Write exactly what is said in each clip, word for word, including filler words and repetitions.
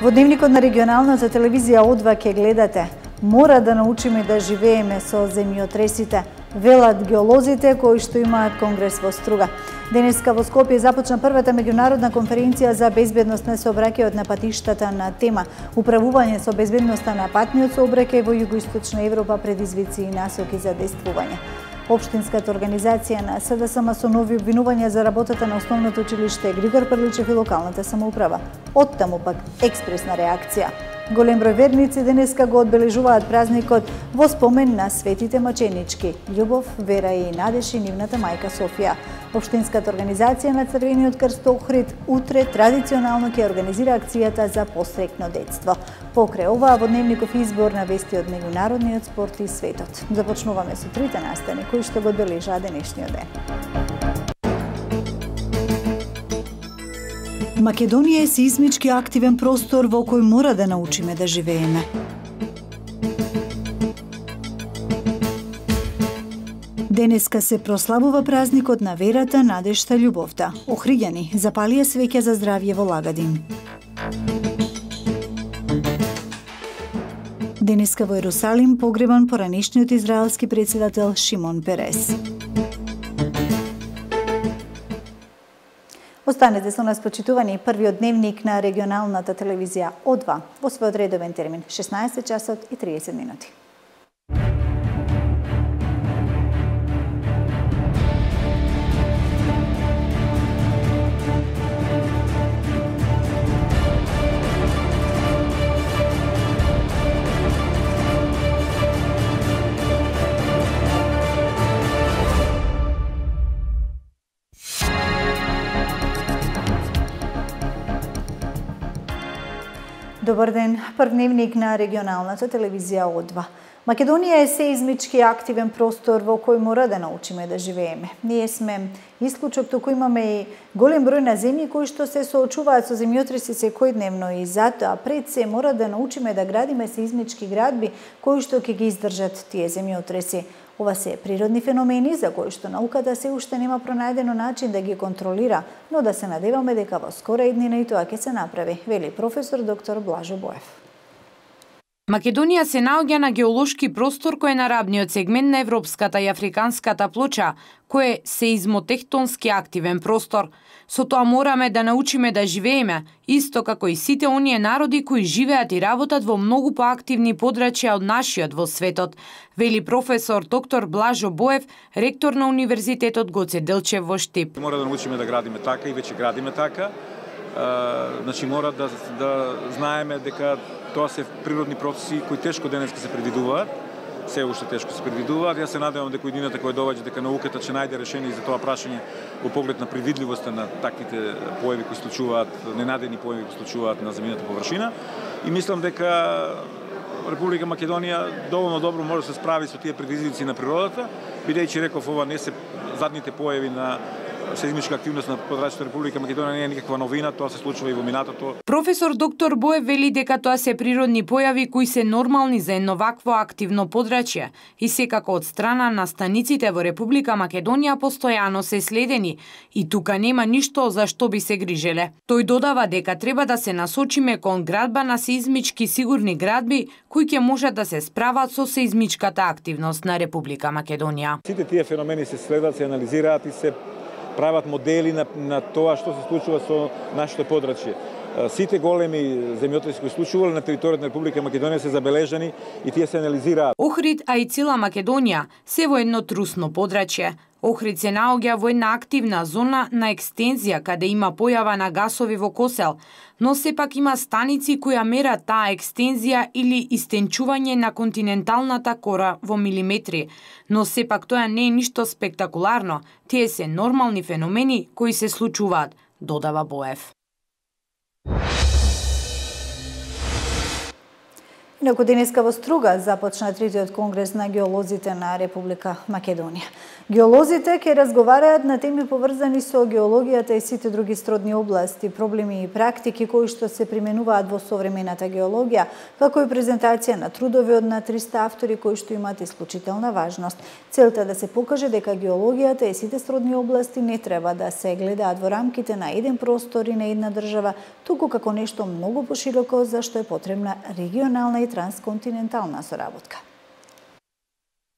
Во дневникот на регионалната телевизија О два ќе гледате: мора да научиме да живееме со земјотресите, велат геолозите кои што имаат конгрес во Струга. Денеска во Скопје започна првата меѓународна конференција за безбедност на сообраќајот на патиштата на тема управување со безбедноста на патниот сообраќај во југоисточна Европа, предизвици и насоки за действување. Општинската организација на С Д С М со нови обвинувања за работата на основното училиште Григор Прличев и локалната самоуправа. Оттаму пак експресна реакција. Голем број верници денеска го одбележуваат празникот во спомен на светите маченички Љубов, Вера и Надеж и нивната мајка Софија. Општинската организација на Црвениот крст Охрид утре традиционално ќе организира акцијата за посрекно детство. Покрај ова, во дневников избор на вести од меѓународниот спорт и светот. Започнуваме со трите настани кои што го одбележаа денешниот ден. Македонија е сеизмички активен простор во кој мора да научиме да живееме. Денеска се прославува празникот на верата, надежта, љубовта. Охриѓани запалија свеќа за здравје во Лагадин. Денеска во Ерусалим погребан поранешниот израелски претседател Шимон Перес. Останете со нас, почитувани, првиот дневник на регионалната телевизија О два во својот редовен термин шеснаесет часот и триесет минути. Добар ден, прв дневник на регионалната телевизија О два. Македонија е сеизмички активен простор во кој мора да научиме да живееме. Ние сме исклучок, туку имаме и голем број на земји кои што се соочуваат со земјотреси секојдневно и затоа пред се мора да научиме да градиме сеизмички градби кои што ќе ги издржат тие земјотреси. Ова се природни феномени за кои што науката се уште нема пронајдено начин да ги контролира, но да се надеваме дека во скора иднина и тоа ќе се направи, вели професор доктор Блажо Боев. Македонија се наоѓа на геолошки простор кој е на рабниот сегмент на европската и африканската плоча, кој е сеизмотехтонски активен простор. Со тоа мораме да научиме да живееме, исто како и сите оние народи кои живеат и работат во многу поактивни подрачја од нашиот во светот, вели професор доктор Блажо Боев, ректор на Универзитетот Гоце Делчев во Штип. Мора да научиме да градиме така и веќе градиме така. Uh, значи мора да, да знаеме дека тоа се природни процеси кои тешко денеска се предвидуваат, се уште тешко се предвидуваат. Јас се надевам дека иднината која доаѓа, дека науката ќе најде решение за тоа прашање во поглед на предвидливоста на таквите појави кои случуваат, ненадени појави кои случуваат на земјината површина. И мислам дека Република Македонија доволно добро може да се справи со тие предизвици на природата, бидејќи реков ова не се задните појави на сеизмичка активност на подрачјето Република Македонија не е никаква новина, тоа се случува и во минатото. Професор доктор Боев вели дека тоа се природни појави кои се нормални за едно вакво активно подрачје и секако од страна на станиците во Република Македонија постојано се следени и тука нема ништо за што би се грижеле. Тој додава дека треба да се насочиме кон градба на сеизмички сигурни градби кои ќе можат да се справат со сеизмичката активност на Република Македонија. Сите тие феномени се следат, се анализираат и се прават модели на, на тоа што се случува со нашето подрачје. Сите големи земјотреси кои случувале на територијата на Република Македонија се забележани и тие се анализираат. Охрид, а и цела Македонија се во едно трусно подрачје. Охрид се наоѓа во една активна зона на екстензија каде има појава на гасови во Косел, но сепак има станици кои мерат таа екстензија или истенчување на континенталната кора во милиметри, но сепак тоа не е ништо спектакуларно, тие се нормални феномени кои се случуваат, додава Боев. Инаку денеска во Струга започна третиот конгрес на геолозите на Република Македонија. Геолозите ќе разговараат на теми поврзани со геологијата и сите други сродни области, проблеми и практики кои што се применуваат во современата геологија, како и презентација на трудови од на триста автори кои што имаат исклучителна важност. Целта да се покаже дека геологијата и сите сродни области не треба да се гледаат во рамките на еден простор и на една држава, туку како нешто многу пошироко за што е потребна регионална и трансконтинентална соработка.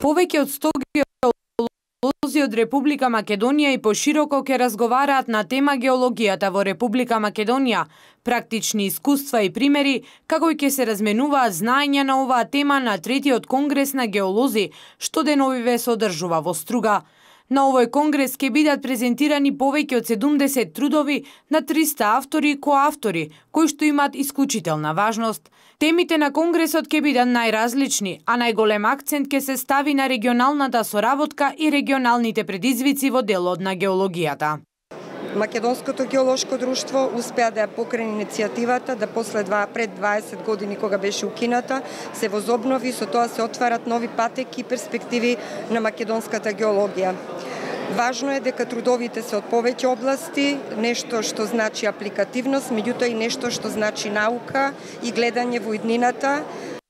Повеќе од сто геолози од Република Македонија и пошироко ќе разговараат на тема геологијата во Република Македонија, практични искуства и примери, како и ќе се разменуваат знаења на оваа тема на третиот конгрес на геолози, што деновиве се одржува во Струга. На овој конгрес ќе бидат презентирани повеќе од седумдесет трудови на триста автори и коавтори, кои што имаат исклучителна важност. Темите на конгресот ќе бидат најразлични, а најголем акцент ќе се стави на регионалната соработка и регионалните предизвици во делот на геологијата. Македонското геолошко друштво успеа да ја покрени иницијативата да после два, пред дваесет години кога беше укината, се возобнови, со тоа се отварат нови патеки и перспективи на македонската геологија. Важно е дека трудовите се од повеќе области, нешто што значи апликативност, меѓутоа и нешто што значи наука и гледање во иднината.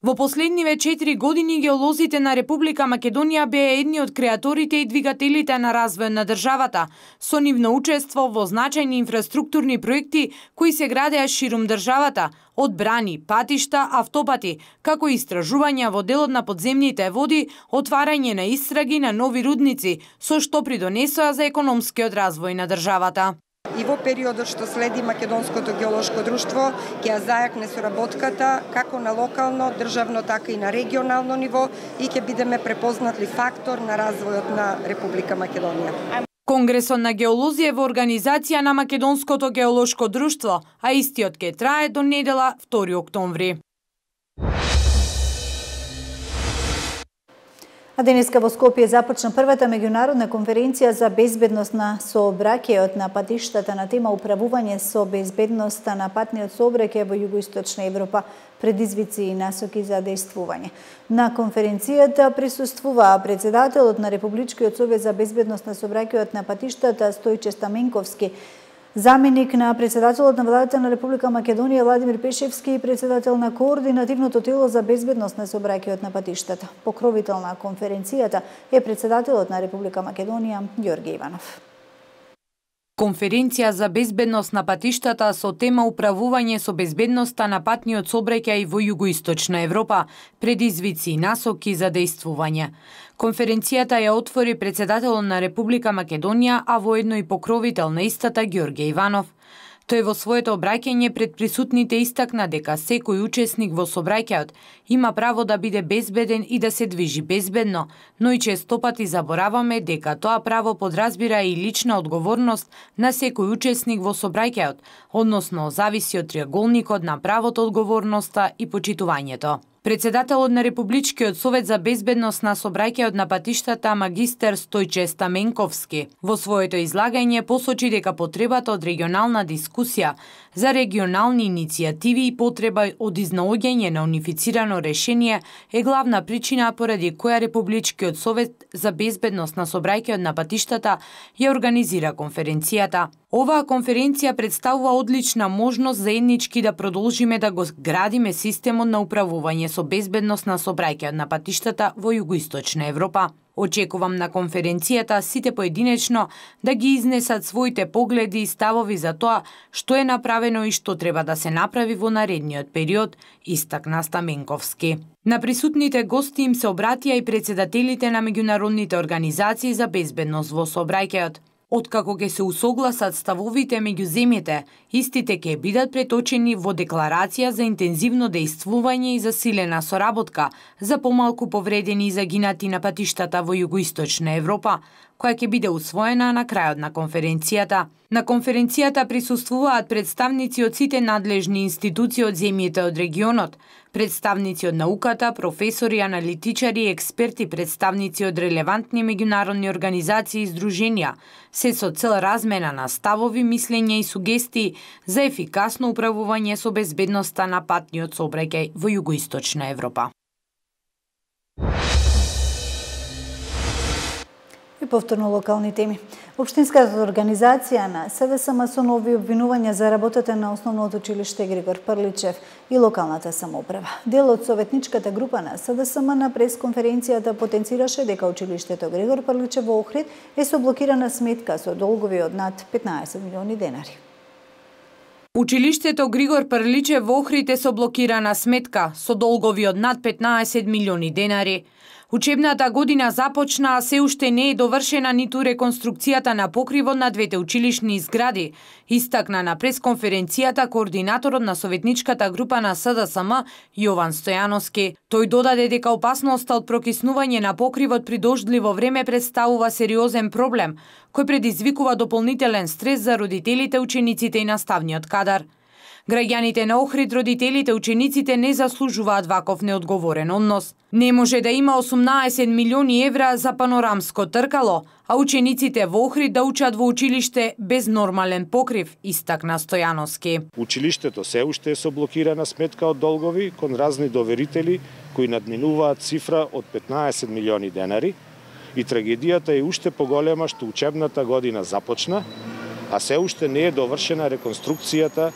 Во последниве четири години геолозите на Република Македонија беа едни од креаторите и двигателите на развој на државата, со нивно учество во значајни инфраструктурни проекти кои се градеа ширум државата, од брани, патишта, автопати, како и истражувања во делот на подземните води, отварање на истраги на нови рудници, со што придонесоа за економскиот развој на државата. И во периодот што следи Македонското геолошко друштво ќе ја зајакне соработката како на локално, државно, така и на регионално ниво и ќе бидеме препознатли фактор на развојот на Република Македонија. Конгресот на геолози е во организација на Македонското геолошко друштво, а истиот ќе трае до недела втори октомври. А денеска во Скопје започна првата меѓународна конференција за безбедност на сообраќајот на патиштата на тема управување со безбедноста на патниот сообраќај во југоисточна Европа, предизвици и насоки за действување. На конференцијата присуствуваа председателот на Републичкиот совет за безбедност на сообраќајот на патиштата Стојче Стаменковски, заменик на председателот на владата на Република Македонија Владимир Пешевски и председател на координативното тело за безбедност на сообраќајот на патиштата. Покровител на конференцијата е председателот на Република Македонија Ѓорѓе Иванов. Конференција за безбедност на патиштата со тема управување со безбедноста на патниот сообраќај во југоисточна Европа, предизвици и насоки за действување. Конференцијата ја отвори председателот на Република Македонија, а воедно и покровител на истата Ѓорѓе Иванов. Тој во своето обраќање пред присутните истакна дека секој учесник во сообраќајот има право да биде безбеден и да се движи безбедно, но и честопати забораваме дека тоа право подразбира и лична одговорност на секој учесник во сообраќајот, односно зависи од триаголникот на правото, одговорноста и почитувањето. Председателот на Републичкиот совет за безбедност на сообраќајот на патиштата магистер Стојче Стаменковски во своето излагање посочи дека потребата од регионална дискусија за регионални иницијативи и потреба од изнаоѓање на унифицирано решение е главна причина поради која Републичкиот совет за безбедност на сообраќајот на патиштата ја организира конференцијата. Оваа конференција представува одлична можност заеднички да продолжиме да го градиме системот на управување со безбедност на сообраќајот на патиштата во југоисточна Европа. Очекувам на конференцијата сите поединечно да ги изнесат своите погледи и ставови за тоа што е направено и што треба да се направи во наредниот период, истакна Стаменковски. На присутните гости им се обратија и председателите на меѓународните организации за безбедност во сообраќајот. Откако ќе се усогласат ставовите меѓу земјите, истите ќе бидат преточени во декларација за интензивно действување и засилена соработка за помалку повредени и загинати на патиштата во југоисточна Европа, која ќе биде усвоена на крајот на конференцијата. На конференцијата присуствуваат представници од сите надлежни институции од земјите од регионот, представници од науката, професори, аналитичари, експерти, представници од релевантни меѓународни организации и здруженија, се со цел размена на ставови, мислења и сугестии за ефикасно управување со безбедноста на патниот сообраќај во југоисточна Европа. И повторно локални теми. Општинската организација на СДСМ со нови обвинувања за работата на Основното училиште Григор Прличев и локалната самоуправа. Дел од советничката група на СДСМ на пресконференцијата потенцираше дека училиштето Григор Прличев во Охрид е со блокирана сметка со долгови од над петнаесет милиони денари. Училиштето Григор Прличев во Охрид е со блокирана сметка со долгови од над петнаесет милиони денари. Учебната година започна, а се уште не е довршена ниту реконструкцијата на покривот на двете училишни згради, истакна на пресконференцијата координаторот на советничката група на СДСМ Јован Стојановски. Тој додаде дека опасноста од прокиснување на покривот при дождливо време представува сериозен проблем, кој предизвикува дополнителен стрес за родителите, учениците и наставниот кадар. Граѓаните на Охрид, родителите, учениците не заслужуваат ваков неодговорен однос. Не може да има осумнаесет милиони евра за панорамско тркало, а учениците во Охрид да учат во училиште без нормален покрив, истакна Стојановски. Училиштето се уште е со блокирана сметка од долгови кон разни доверители кои надминуваат цифра од петнаесет милиони денари и трагедијата е уште поголема што учебната година започна, а се уште не е довршена реконструкцијата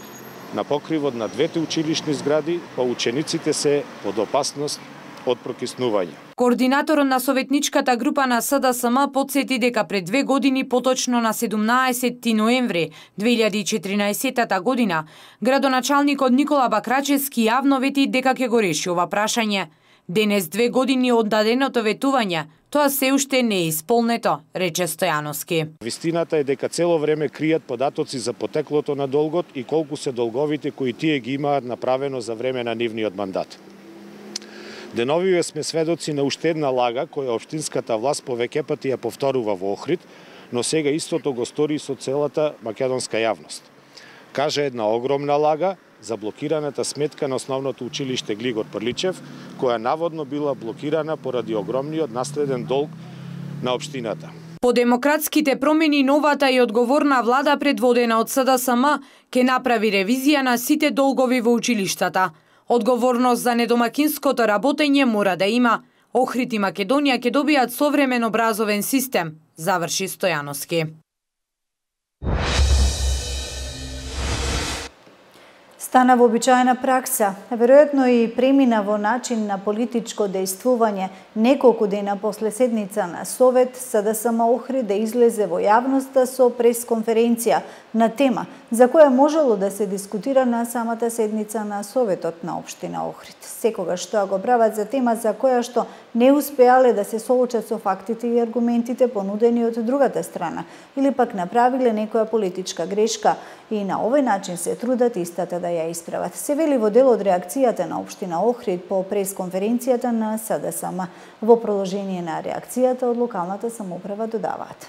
на покривот на двете училишни згради, па учениците се под опасност од прокиснување. Координаторот на советничката група на СДСМ потсети дека пред две години, поточно на седумнаесети ноември две илјади и четиринаесета година, градоначалникот Никола Бакрачевски јавно вети дека ќе го реши ова прашање. Денес, две години од даденото ветување, тоа се уште не е исполнето, рече Стојановски. Вистината е дека цело време кријат податоци за потеклото на долгот и колку се долговите кои тие ги имаат направено за време на нивниот мандат. Деновиве сме сведоци на уште една лага која општинската власт повеќе пати ја повторува во Охрид, но сега истото го стори со целата македонска јавност. Кажа една огромна лага за блокираната сметка на Основното училиште Григор Прличев, која наводно била блокирана поради огромниот наследен долг на општината. По демократските промени, новата и одговорна влада предводена од СДСМ ќе направи ревизија на сите долгови во училиштата. Одговорност за недомакинското работење мора да има. Охрид и Македонија ќе добијат современ образовен систем, заврши Стојановски. Стана вообичаена пракса, веројатно и премина во начин на политичко дејствување неколку дена после седница на Совет СДСМ Охрид да излезе во јавноста со пресконференција на тема за која можело да се дискутира на самата седница на Советот на Општина Охрид. Секогаш тоа го прават за тема за која што не успеале да се соочат со фактите и аргументите понудени од другата страна или пак направиле некоја политичка грешка и на овој начин се трудат истата да ја исправат. Се вели во дел од реакцијата на Општина Охрид по пресконференцијата на СДСМ. Во продолжение на реакцијата од локалната самоуправа додаваат.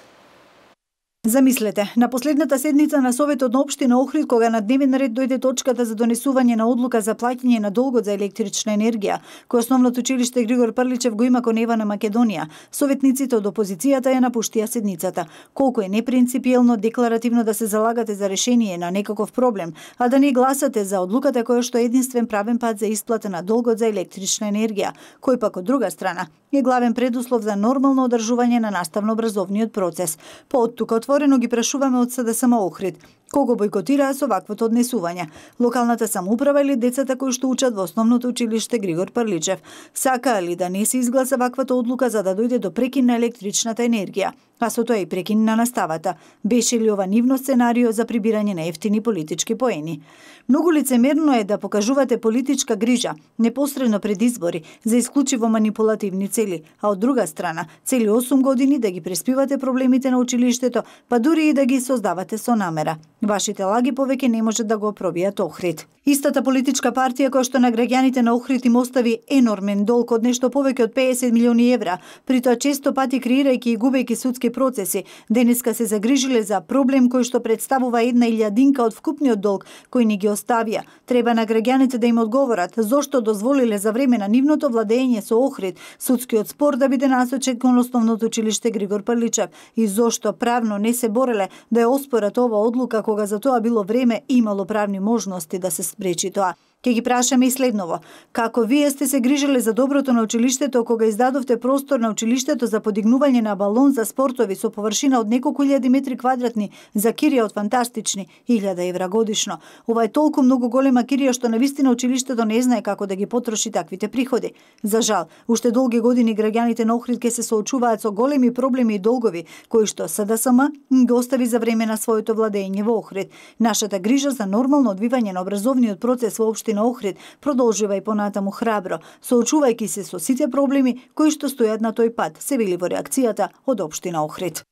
Замислете, на последната седница на Советот на Општина Охрид, кога на дневен ред дојде точката за донесување на одлука за плаќање на долгот за електрична енергија, кој Основното училиште Григор Прличев го има кон Ева на Македонија, советниците од опозицијата ја напуштија седницата. Колку е непринципиелно, декларативно да се залагате за решение на некаков проблем, а да не гласате за одлуката која што е единствен правен пат за исплата на долгот за електрична енергија, кој пак од друга страна е главен предуслов за нормално одржување на наставно-образовниот процес. По оттука отворено ги прашуваме од СДСМ Охрид кого бојкотираа со ваквото однесување. Локалната самоуправа или децата кои што учат во Основното училиште Григор Прличев? Сакаа ли да не се изгласа ваквата одлука за да дојде до прекин на електричната енергија, а со тоа и прекин на наставата? Беше ли ова нивно сценарио за прибирање на ефтини политички поени? Многу лицемерно е да покажувате политичка грижа непосредно пред избори за исклучиво манипулативни цели, а од друга страна цели осум години да ги преспивате проблемите на училиштето, па дури и да ги создавате со намера. Вашите лаги повеќе не можат да го пробијат Охрид. Истата политичка партија која што на граѓаните на Охрид им остави енормен долг од нешто повеќе од пеесет милиони евра, при тоа често пати креирајќи и губејќи судски процеси, денеска се загрижиле за проблем кој што представува една илјадинка од вкупниот долг кој ни ги оставија. Треба на граѓаните да им одговорат зошто дозволиле за време на нивното владење со Охрид судскиот спор да биде насочен кон Основното училиште Григор Прличев и зошто правно не се бореле да ја оспорат ова одлука кога за тоа било време и имало правни можности да се спречи тоа. Ке ги прашаме и следново. Како вие сте се грижеле за доброто на училиштето кога издадовте простор на училиштето за подигнување на балон за спортови со површина од неколку илјади метри квадратни за кирија од фантастични илјада евра годишно? Ова е толку многу голема кирија што навистина училиштето не знае како да ги потроши таквите приходи. За жал, уште долги години граѓаните на Охрид ке се соочуваат со големи проблеми и долгови, кои што СДСМ ги остави за време на своето владење во Охрид. Нашата грижа за нормално одвивање на образовниот процес во општина Охрид продолжува и понатаму храбро, соочувајќи се со сите проблеми кои што стојат на тој пат, се вели во реакцијата од општина Охрид.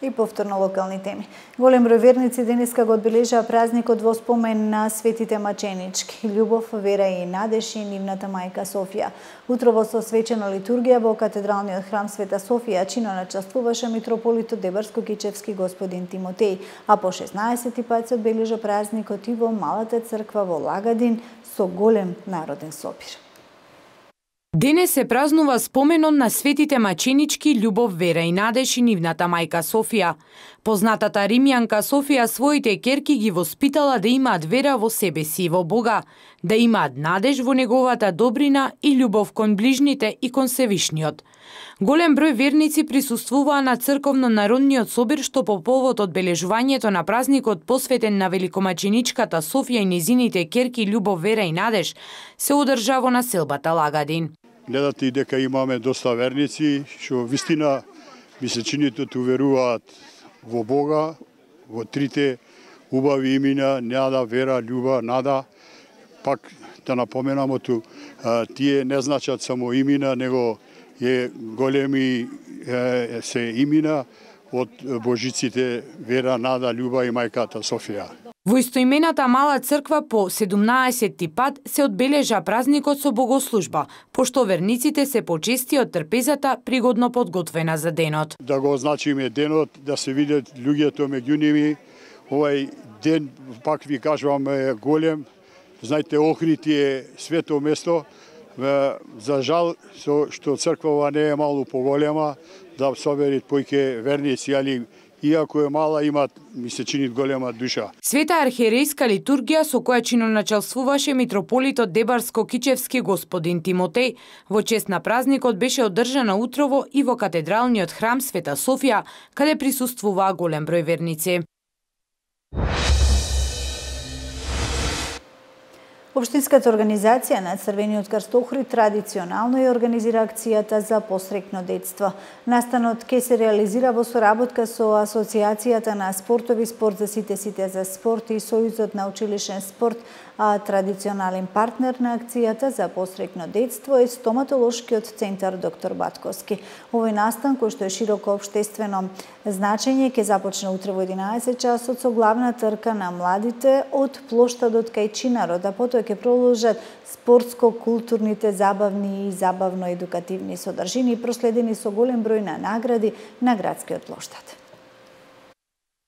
И повторно локални теми. Голем број верници денеска го одбележаа празникот во спомен на светите маченички Љубов, Вера и Надеж и нивната мајка Софија. Утрово со свечена литургија во катедралниот храм Света Софија чино начествуваше митрополитот Дебарско-Кичевски господин Тимотеј, а по шеснаесети пат се одбележа празникот и во малата црква во Лагадин со голем народен собир. Денес се празнува споменот на светите маченички Љубов, Вера и Надеж и нивната мајка Софија. Познатата римјанка Софија своите керки ги воспитала да имаат вера во себе си и во Бога, да имаат надеж во неговата добрина и љубов кон ближните и кон Севишниот. Голем број верници присуствуваа на црковно-народниот собир што по повод одбележувањето на празникот посветен на великомаченичката Софија и незините керки Љубов, Вера и Надеж се одржа во населбата Лагадин. Гледате и дека имаме доста верници, што вистина ми се чини ту веруваат во Бога, во трите убави имена, Нада, Вера, Љуба, Нада. Пак да напоменамо ту, тие не значат само имена, него е големи е, се имена од божиците Вера, Нада, Љуба и мајката Софија. Во истоимената мала црква по седумнаесети пат се одбележа празникот со богослужба, пошто верниците се почести од трпезата пригодно подготвена за денот. Да го означиме денот, да се видат луѓето меѓу ними. Овај ден, пак ви кажувам, е голем. Знаете, Охрид е свето место. За жал, со што црквава не е малку поголема, да соберат појќе верници, али иако е мала, имат, ми се чини голема душа. Света архиерейска литургија со која чиноначалствуваше митрополитот Дебарско-Кичевски господин Тимотеј во чест на празникот беше одржана утрово и во катедралниот храм Света Софија, каде присуствуваа голем број верници. Општинската организација на Црвениот крст Охрид традиционално ја организира акцијата за посрекно детство. Настанот ќе се реализира во соработка со Асоциацијата на спортови спорт за сите сите за спорт и Сојузот на училишен спорт, а традиционален партнер на акцијата за посрекно детство е стоматолошкиот центар доктор Батковски. Овој настан, кој што е широко општествено значење, ќе започне утре во единаесет часот со главна трка на младите од плоштадот кај Чинарот, а потоа ќе продолжат спортско-културните, забавни и забавно-едукативни содржини, проследени со голем број на награди на градскиот плоштад.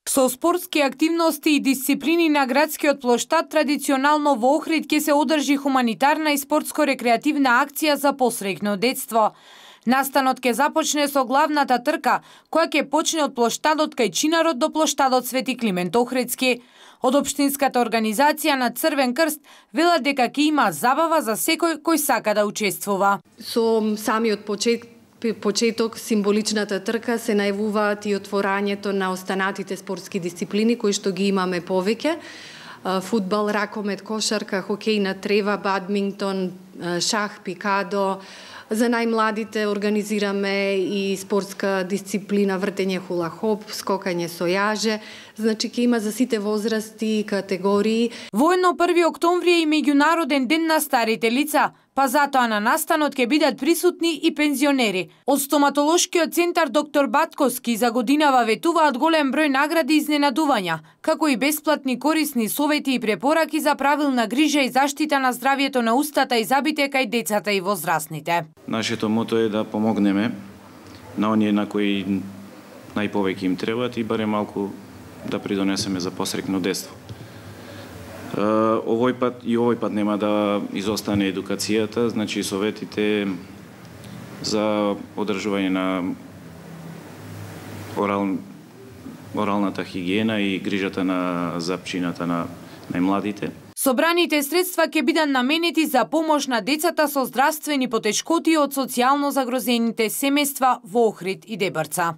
Со спортски активности и дисциплини на градскиот плоштад традиционално во Охрид ќе се одржи хуманитарна и спортско-рекреативна акција за посрекно детство. Настанот ќе започне со главната трка, која ќе почне од плоштадот кај Чинарот до плоштадот Свети Климент Охридски. Од Општинската организација на Црвен крст велат дека ќе има забава за секој кој сака да учествува. Со самиот почеток почеток символичната трка се најавуваат и отворањето на останатите спортски дисциплини кои што ги имаме повеќе. Фудбал, ракомет, кошарка, хокеј на трева, бадминтон, шах, пикадо. За најмладите организираме и спортска дисциплина вртење хула-хоп, скокање со јаже. Значи ќе има за сите возрасти и категории. Воедно први октомври е и меѓународен ден на старите лица, па затоа на настанот ќе бидат присутни и пензионери. Од стоматолошкиот центар доктор Батковски за годинава ветуваат голем број награди и изненадувања, како и бесплатни корисни совети и препораки за правилна грижа и заштита на здравието на устата и забите кај децата и возрастните. Нашето мото е да помогнеме на оние на кои најповеќе им требаат и барем малку да придонесеме за посрекно детство. Овој пат и овој пат нема да изостане едукацијата, значи советите за одржување на орал оралната хигиена и грижата на запчината на најмладите. Собраните средства ќе бидат наменети за помош на децата со здравствени потешкоти од социјално загрозените семејства во Охрид и Дебрца.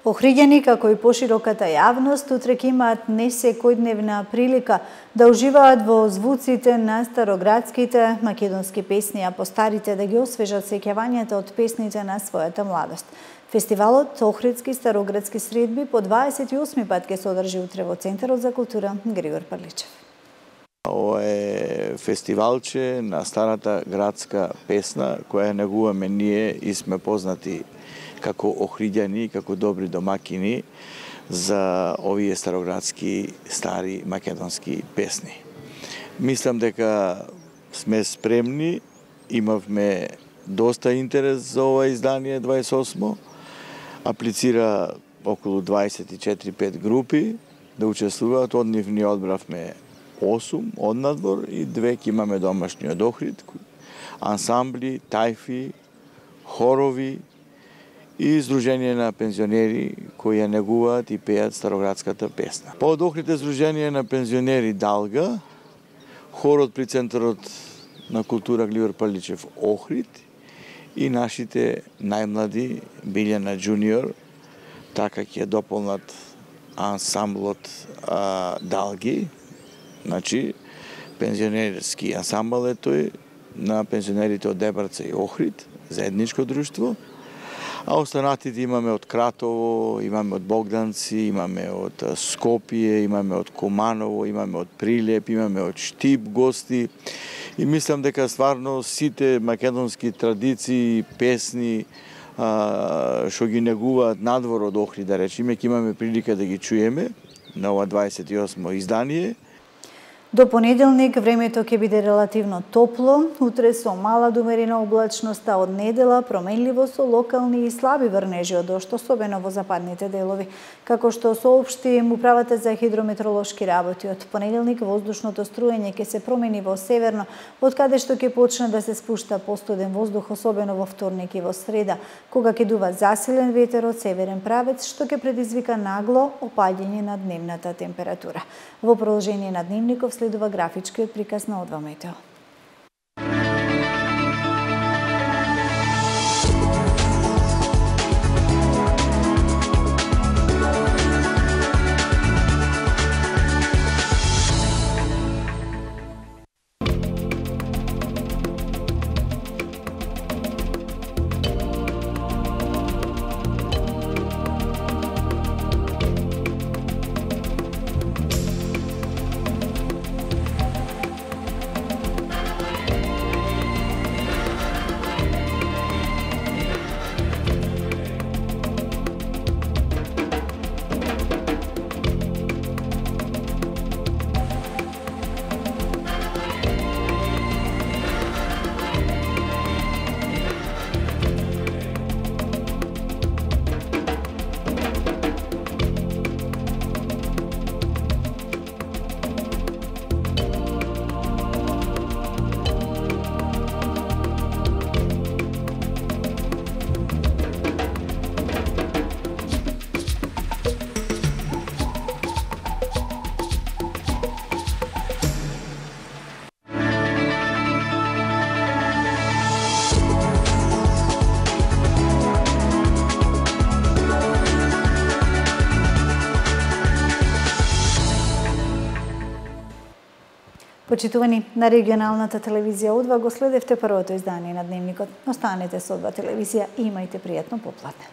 Охриѓани, како и пошироката јавност, утре ќе имаат несекојдневна прилика да уживаат во звуците на староградските македонски песни, а постарите да ги освежат сеќавањата од песните на својата младост. Фестивалот Охридски староградски средби по дваесет и осми пат ќе се одржи утре во Центарот за култура Григор Парличев. Ова е фестивалче на старата градска песна која негуваме ние и сме познати како охриѓани, како добри домакини за овие староградски стари македонски песни. Мислам дека сме спремни, имавме доста интерес за ова издание дваесет и осмо. Аплицира околу дваесет и четири пет групи да учествуваат, од нив ние одбравме осум од надвор и две ќе имаме домашни од Охрид, ансамбли, тајфи, хорови и Сдружение на пензионери кои ја негуваат и пеат староградската песна. Под Охрид е Сдружение на пензионери Далга, хорот при Центарот на култура Григор Парличев Охрид и нашите најмлади Билјана Джуниор, така ќе дополнат ансамблот а, Далги, значи пензионерски ансамбл е тој на пензионерите од Дебрца и Охрид, заедничко друштво. А останатите имаме од Кратово, имаме од Богданци, имаме од Скопје, имаме од Куманово, имаме од Прилеп, имаме од Штип гости. И мислам дека стварно сите македонски традиции, песни, што ги негуваат надвор од Охрид, да речеме, ќе имаме прилика да ги чуеме на ова дваесет и осмо издание. До понеделник времето ќе биде релативно топло, утре со мала до умерена облачност, а од недела променливо со локални и слаби врнежи од дожд, особено во западните делови. Како што соопшти Управата за хидрометеоролошки работи, од понеделник воздушното струење ќе се промени во северно, од каде што ќе почне да се спушта постуден воздух, особено во вторник и во среда, кога ќе дува засилен ветер од северен правец, што ќе предизвика нагло опаѓање на дневната температура. Во продолжение на дневников следува графичкиот приказ на Одва Метео. Почитувани, на регионалната телевизија Одва го следевте првото издание на Дневникот. Останете со Одва телевизија и имајте пријатно попладне.